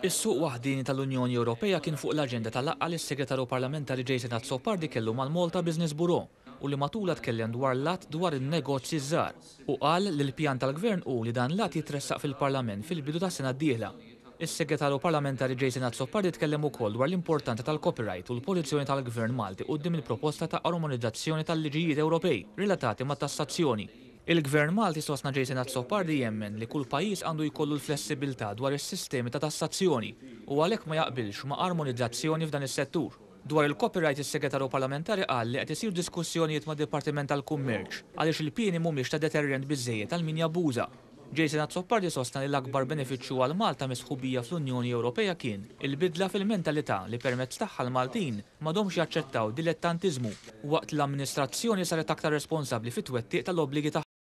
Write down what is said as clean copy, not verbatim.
Is-suq waħdieni tal-Unjoni Ewropea kien fuq l-aġenda ta' laqgħa li s-Segretarju Parlamentari Jason Azzopardi kellu mal-Malta Business Bureau u li matulha tkellem dwar l-Att dwar in-Negozji ż-Żgħar u qal li l-pjan tal-Gvern hu li dan l-att jitressaq fil-Parlament fil-bidu tas-sena d-dieħla. Is-Segretarju Parlamentari Jason Azzopardi tkellem ukoll dwar l-importanza tal-copyright u l-pożizzjoni tal-Gvern Malti quddiem il-proposta ta' armonizzazzjoni tal-liġijiet Ewropej relatati mat-tassazzjoni. Il-Gvern Malti, sostna Jason Azzopardi, jemmen li kull pajjiż għandu jkollu l-flessibilità dwar is-sistemi ta' tassazzjoni u għalhekk ma jaqbilx ma' armonizzazzjoni f'dan is-settur. Dwar il-copyright is-Segretarju Parlamentari qal li qed isiru diskussjonijiet mad-Dipartiment tal-Kummerċ għaliex il-pieni mhumiex ta' deterrent biżżejjed għal min jabbuża. Jason Azzopardi sostna li l-akbar benefiċċju għal Malta mis-sħubija fl-Unjoni Ewropea kien il-bidla fil-mentalità li permezz tagħha l-Maltin m'għadhomx jaċċettaw dilettantiżmu waqt li l-amministrazzjoni saret aktar responsabbli fit-twettiq tal-obbligi tagħha.